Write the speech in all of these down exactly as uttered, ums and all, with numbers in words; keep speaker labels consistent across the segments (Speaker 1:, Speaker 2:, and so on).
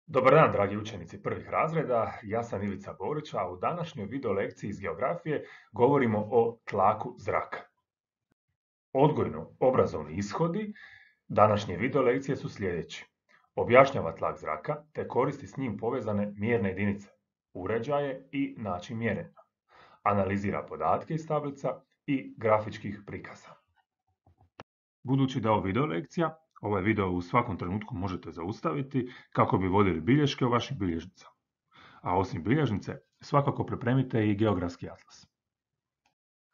Speaker 1: Dobar dan, dragi učenici prvih razreda. Ja sam Ivica Borić, a u današnjoj video lekciji iz geografije govorimo o tlaku zraka. Odgojno-obrazovni ishodi današnje video lekcije su sljedeći. Objašnjava tlak zraka te koristi s njim povezane mjerne jedinice, uređaje i način mjerenja. Analizira podatke iz tablica i grafičkih prikaza. Budući da je ovo video lekcija, ovaj video u svakom trenutku možete zaustaviti kako bi vodili bilješke u vašim bilježnicama. A osim bilježnice, svakako pripremite i geografski atlas.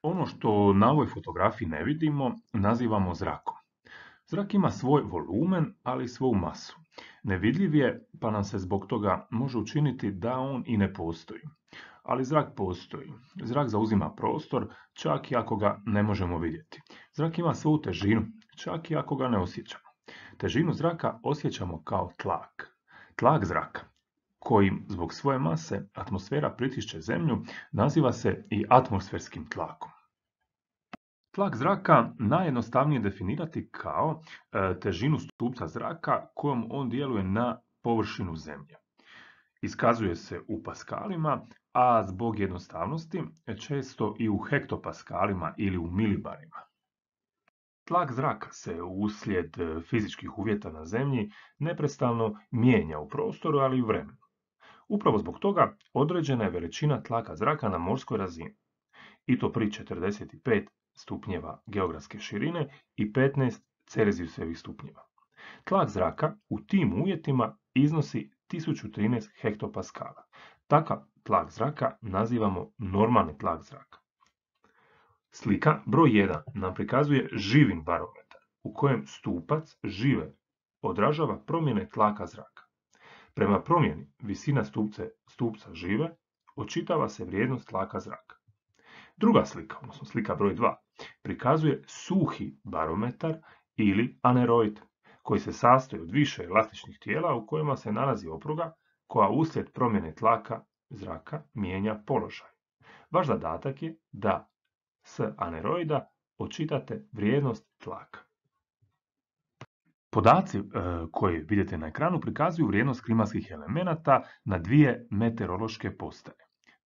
Speaker 1: Ono što na ovoj fotografiji ne vidimo, nazivamo zrakom. Zrak ima svoj volumen, ali i svoju masu. Nevidljiv je, pa nam se zbog toga može učiniti da on i ne postoji. Ali zrak postoji. Zrak zauzima prostor, čak i ako ga ne možemo vidjeti. Zrak ima svoju težinu, čak i ako ga ne osjećamo. Težinu zraka osjećamo kao tlak. Tlak zraka, kojim zbog svoje mase atmosfera pritišće zemlju, naziva se i atmosferskim tlakom. Tlak zraka najjednostavnije definirati kao e, težinu stupca zraka kojom on djeluje na površinu zemlje. Iskazuje se u paskalima, a zbog jednostavnosti često i u hektopaskalima ili u milibarima. Tlak zraka se uslijed fizičkih uvjeta na zemlji neprestano mijenja u prostoru, ali i u vremenu. Upravo zbog toga određena je veličina tlaka zraka na morskoj razini, i to pri četrdeset pet stupnjeva geografske širine i petnaest celzijusevih stupnjeva. Tlak zraka u tim uvjetima iznosi tisuću trinaest hektopaskala. Takav tlak zraka nazivamo normalni tlak zraka. Slika broj jedan nam prikazuje živin barometar u kojem stupac žive odražava promjene tlaka zraka. Prema promjeni visina stupce, stupca žive očitava se vrijednost tlaka zraka. Druga slika, odnosno slika broj dva, prikazuje suhi barometar ili aneroid, koji se sastoji od više elastičnih tijela u kojima se nalazi opruga koja uslijed promjene tlaka zraka mijenja položaj. Vaš zadatak je da s aneroida očitate vrijednost tlaka. Podaci e, koje vidite na ekranu prikazuju vrijednost klimatskih elemenata na dvije meteorološke postaje.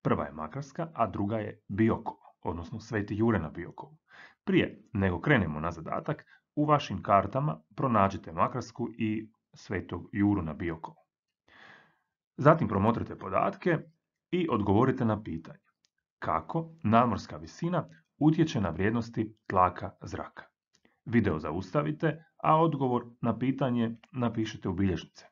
Speaker 1: Prva je Makarska, a druga je Biokovo, odnosno Sveti Jure na Biokovu. Prije nego krenemo na zadatak, u vašim kartama pronađite Makarsku i Svetog Juru na Biokovu. Zatim promotrite podatke i odgovorite na pitanje kako nadmorska visina utječe na vrijednosti tlaka zraka. Video zaustavite, a odgovor na pitanje napišite u bilježnice.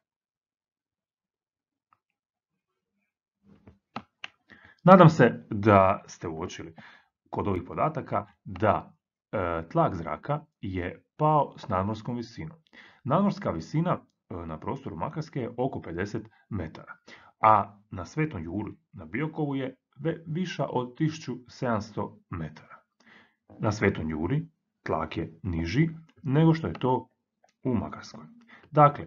Speaker 1: Nadam se da ste uočili kod ovih podataka da e, tlak zraka je pao s nadmorskom visinom. Nadmorska visina e, na prostoru Makarske je oko pedeset metara, a na Svetom Juri na Biokovu je viša od tisuću sedamsto metara. Na Svetom Juri tlak je niži nego što je to u Makarskoj. Dakle,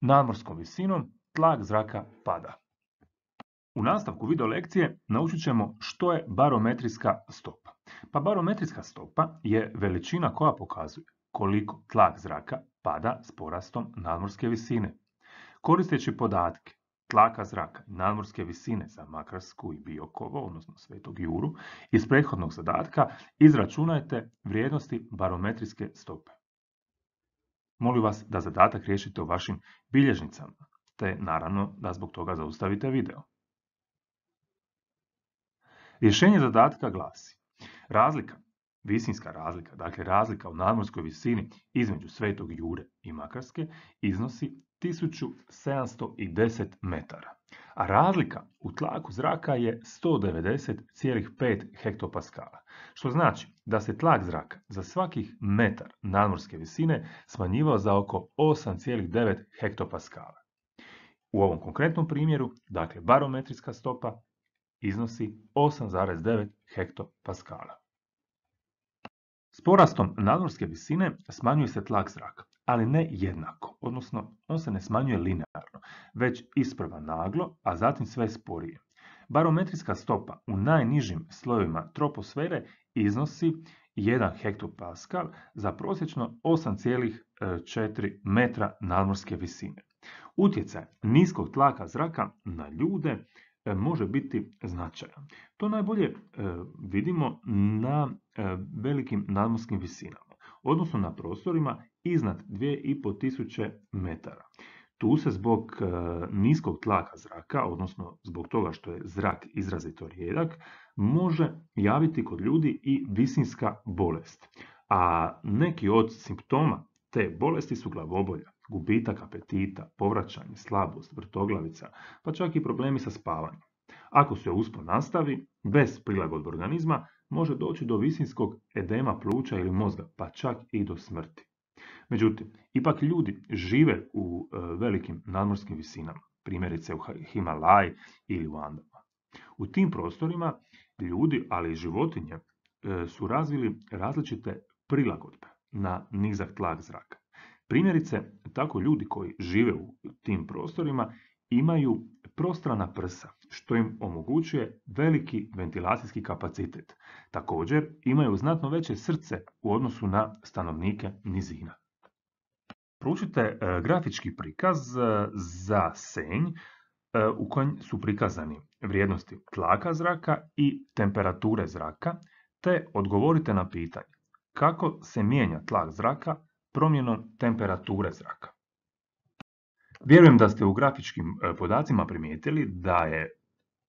Speaker 1: nadmorskom visinom tlak zraka pada. U nastavku video lekcije naučit ćemo što je barometrijska stopa. Pa barometrijska stopa je veličina koja pokazuje koliko tlak zraka pada s porastom nadmorske visine. Koristeći podatke tlaka zraka i nadmorske visine za Makarsku i Biokovo, odnosno Svetog Juru, iz prethodnog zadatka izračunajte vrijednosti barometrijske stope. Molim vas da zadatak riješite u vašim bilježnicama, te naravno da zbog toga zaustavite video. Rješenje zadatka glasi: razlika, visinska razlika, dakle razlika u nadmorskoj visini između Svetog Jure i Makarske iznosi tisuću sedamsto deset metara, a razlika u tlaku zraka je sto devedeset zarez pet hektopaskala, što znači da se tlak zraka za svakih metar nadmorske visine smanjivao za oko osam zarez devet hektopaskala. U ovom konkretnom primjeru, dakle barometrijska stopa, iznosi osam zarez devet hektopaskala. S porastom nadmorske visine smanjuje se tlak zraka, ali ne jednako, odnosno on se ne smanjuje linearno, već isprva naglo, a zatim sve sporije. Barometrijska stopa u najnižim slojevima troposfere iznosi jedan hektopaskal za prosječno osam zarez četiri metra nadmorske visine. Utjecaj niskog tlaka zraka na ljude e, može biti značajan. To najbolje e, vidimo na e, velikim nadmorskim visinama, odnosno na prostorima iznad dvije i pol tisuće metara. Tu se zbog e, niskog tlaka zraka, odnosno zbog toga što je zrak izrazito rijedak, može javiti kod ljudi i visinska bolest. A neki od simptoma te bolesti su glavobolja, gubitak apetita, povraćanje, slabost, vrtoglavica, pa čak i problemi sa spavanjem. Ako se uspon nastavi, bez prilagodbe organizma, može doći do visinskog edema pluća ili mozga, pa čak i do smrti. Međutim, ipak ljudi žive u e, velikim nadmorskim visinama, primjerice u Himalaji ili u Andama. U tim prostorima ljudi, ali i životinje, e, su razvili različite prilagodbe na nizak tlak zraka. Primjerice, tako ljudi koji žive u tim prostorima imaju prostrana prsa, što im omogućuje veliki ventilacijski kapacitet. Također, imaju znatno veće srce u odnosu na stanovnike nizina. Proučite e, grafički prikaz e, za Senj e, u kojem su prikazani vrijednosti tlaka zraka i temperature zraka, te odgovorite na pitanje kako se mijenja tlak zraka promjenom temperature zraka. Vjerujem da ste u grafičkim podacima primijetili da je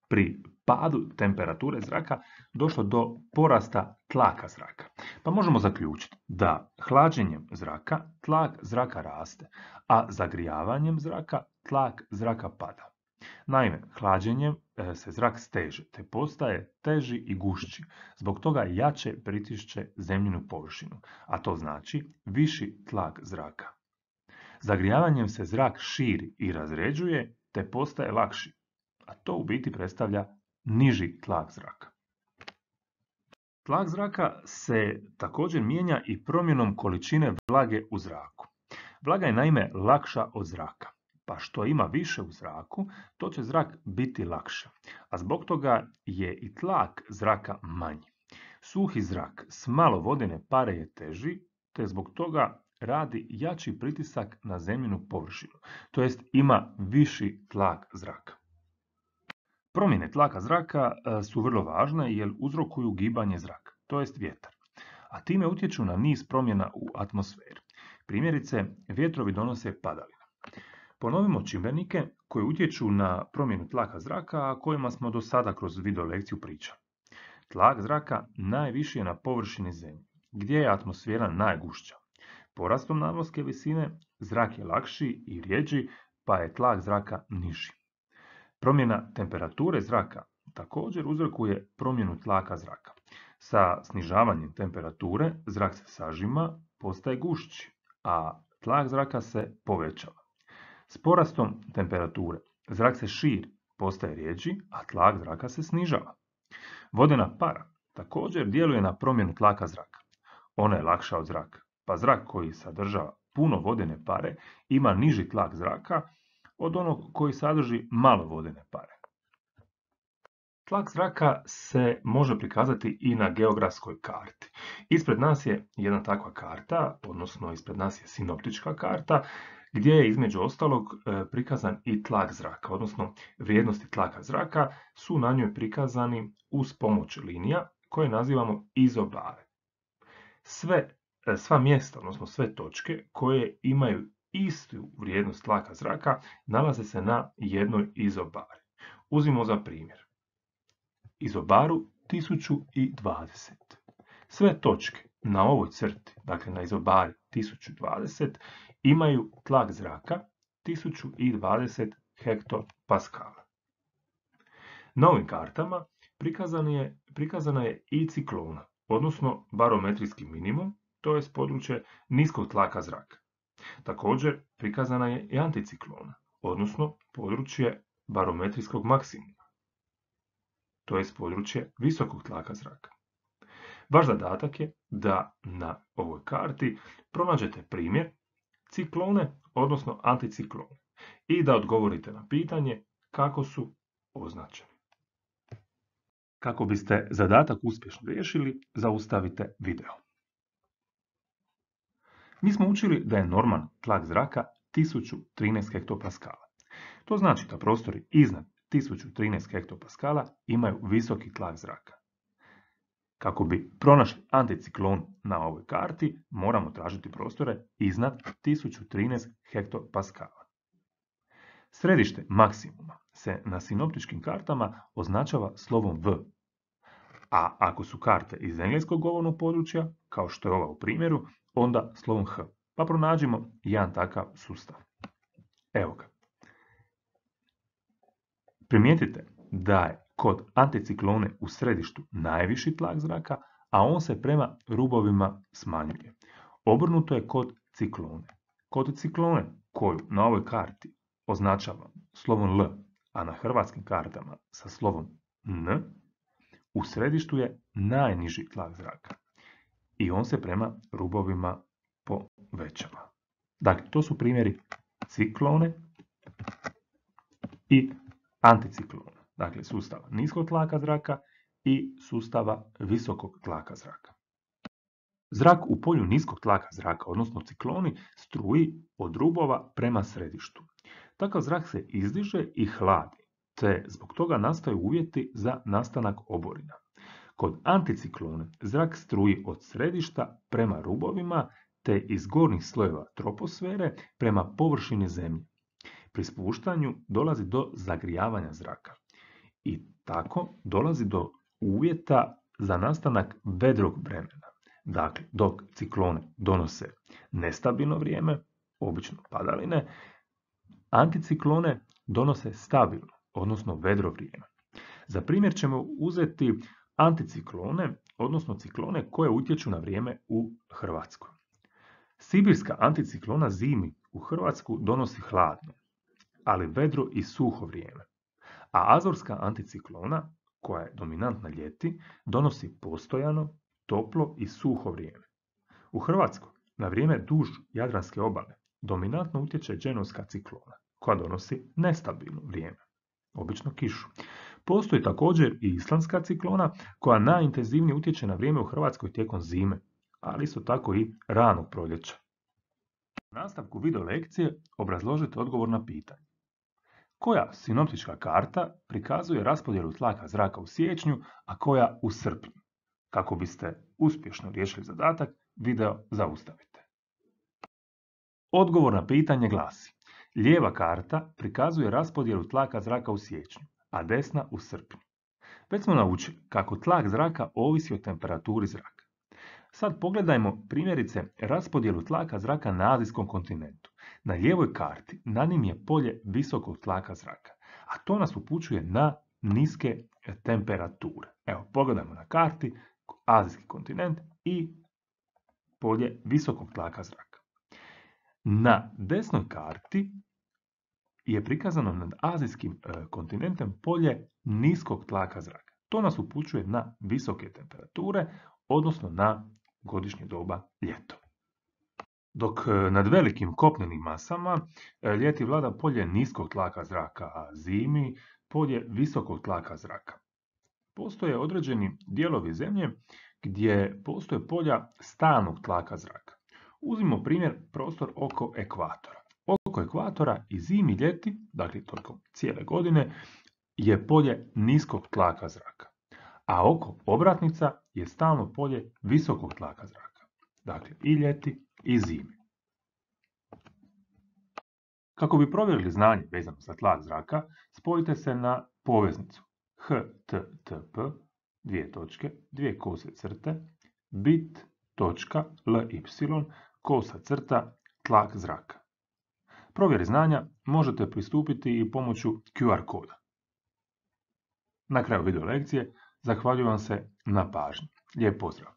Speaker 1: pri padu temperature zraka došlo do porasta tlaka zraka. Pa možemo zaključiti da hlađenjem zraka tlak zraka raste, a zagrijavanjem zraka tlak zraka pada. Naime, hlađenjem se zrak steže te postaje teži i gušći, zbog toga jače pritišće zemljinu površinu, a to znači viši tlak zraka. Zagrijavanjem se zrak širi i razređuje te postaje lakši, a to u biti predstavlja niži tlak zraka. Tlak zraka se također mijenja i promjenom količine vlage u zraku. Vlaga je naime lakša od zraka, pa što ima više u zraku, to će zrak biti lakše, a zbog toga je i tlak zraka manji. Suhi zrak s malo vodene pare je teži, te zbog toga radi jači pritisak na zemljinu površinu, to jest ima viši tlak zraka. Promjene tlaka zraka su vrlo važne jer uzrokuju gibanje zraka, to jest vjetar, a time utječu na niz promjena u atmosferi. Primjerice, vjetrovi donose padavine. Ponovimo čimbenike koji utječu na promjenu tlaka zraka, a kojima smo do sada kroz video lekciju pričali. Tlak zraka najviši je na površini zemlje, gdje je atmosfera najgušća. Porastom nadmorske visine zrak je lakši i rjeđi, pa je tlak zraka niži. Promjena temperature zraka također uzrokuje promjenu tlaka zraka. Sa snižavanjem temperature zrak se sažima, postaje gušći, a tlak zraka se povećava. S porastom temperature zrak se širi, postaje rjeđi, a tlak zraka se snižava. Vodena para također djeluje na promjenu tlaka zraka. Ona je lakša od zraka, pa zrak koji sadržava puno vodene pare ima niži tlak zraka od onog koji sadrži malo vodene pare. Tlak zraka se može prikazati i na geografskoj karti. Ispred nas je jedna takva karta, odnosno ispred nas je sinoptička karta, gdje je između ostalog prikazan i tlak zraka, odnosno vrijednosti tlaka zraka su na njoj prikazani uz pomoć linija koje nazivamo izobare. Sve, sva mjesta, odnosno sve točke koje imaju istu vrijednost tlaka zraka nalaze se na jednoj izobari. Uzmimo za primjer izobaru tisuću dvadeset. Sve točke na ovoj crti, dakle na izobari tisuću dvadeset, imaju tlak zraka tisuću dvadeset hektopaskala. Na ovim kartama prikazana je, prikazana je i ciklona, odnosno barometrijski minimum, to je područje niskog tlaka zraka. Također prikazana je i anticiklona, odnosno područje barometrijskog maksimuma, to je područje visokog tlaka zraka. Vaš zadatak je da na ovoj karti pronađete primjer ciklone, odnosno anticiklone, i da odgovorite na pitanje kako su označeni. Kako biste zadatak uspješno riješili, zaustavite video. Mi smo učili da je normalan tlak zraka tisuću trinaest hektopaskala. To znači da prostori iznad tisuću trinaest hektopaskala imaju visoki tlak zraka. Kako bi pronašli anticiklon na ovoj karti, moramo tražiti prostore iznad tisuću trinaest hektopaskala. Središte maksimuma se na sinoptičkim kartama označava slovom V, a ako su karte iz engleskog govornog područja, kao što je ova u primjeru, onda slovom H. Pa pronađimo jedan takav sustav. Evo ga. Primijetite da je kod anticiklone u središtu najviši tlak zraka, a on se prema rubovima smanjuje. Obrnuto je kod ciklone. Kod ciklone, koju na ovoj karti označava slovom L, a na hrvatskim kartama sa slovom N, u središtu je najniži tlak zraka i on se prema rubovima povećava. Dakle, to su primjeri ciklone i anticiklona. Dakle, sustava niskog tlaka zraka i sustava visokog tlaka zraka. Zrak u polju niskog tlaka zraka, odnosno cikloni, struji od rubova prema središtu. Takav zrak se izdiže i hladi, te zbog toga nastaju uvjeti za nastanak oborina. Kod anticiklone zrak struji od središta prema rubovima, te iz gornjih slojeva troposfere prema površini zemlje. Pri spuštanju dolazi do zagrijavanja zraka i tako dolazi do uvjeta za nastanak vedrog vremena. Dakle, dok ciklone donose nestabilno vrijeme, obično padaline, anticiklone donose stabilno, odnosno vedro vrijeme. Za primjer ćemo uzeti anticiklone, odnosno ciklone koje utječu na vrijeme u Hrvatskoj. Sibirska anticiklona zimi u Hrvatsku donosi hladno, ali vedro i suho vrijeme. A azorska anticiklona, koja je dominantna ljeti, donosi postojano, toplo i suho vrijeme. U Hrvatskoj, na vrijeme duž Jadranske obale, dominantno utječe dženovska ciklona, koja donosi nestabilno vrijeme, obično kišu. Postoji također i islandska ciklona, koja najintenzivnije utječe na vrijeme u Hrvatskoj tijekom zime, ali isto tako i ranog proljeća. U nastavku video lekcije obrazložite odgovor na pitanje. Koja sinoptička karta prikazuje raspodjelu tlaka zraka u siječnju, a koja u srpnju? Kako biste uspješno riješili zadatak, video zaustavite. Odgovor na pitanje glasi: lijeva karta prikazuje raspodjelu tlaka zraka u siječnju, a desna u srpnju. Već smo naučili kako tlak zraka ovisi o temperaturi zraka. Sad pogledajmo primjerice raspodjelu tlaka zraka na azijskom kontinentu. Na lijevoj karti na njim je polje visokog tlaka zraka, a to nas upućuje na niske temperature. Evo, pogledajmo na karti azijski kontinent i polje visokog tlaka zraka. Na desnoj karti je prikazano nad azijskim kontinentem polje niskog tlaka zraka. To nas upućuje na visoke temperature, odnosno na godišnje doba ljeto. Dok nad velikim kopnenim masama ljeti vlada polje niskog tlaka zraka, a zimi polje visokog tlaka zraka. Postoje određeni dijelovi zemlje gdje postoje polja stalnog tlaka zraka. Uzmimo primjer prostor oko ekvatora. Oko ekvatora i zimi i ljeti, dakle toliko cijele godine, je polje niskog tlaka zraka. A oko obratnica je stalno polje visokog tlaka zraka. Dakle, i ljeti i zimi. Kako bi provjerili znanje vezano za tlak zraka, spojite se na poveznicu h t t p dvije točke, dvije kose crte, bit.ly kosa crta tlak zraka. Provjeri znanja možete pristupiti i pomoću Q R koda. Na kraju video lekcije zahvaljujem vam se na pažnji. Lijep pozdrav!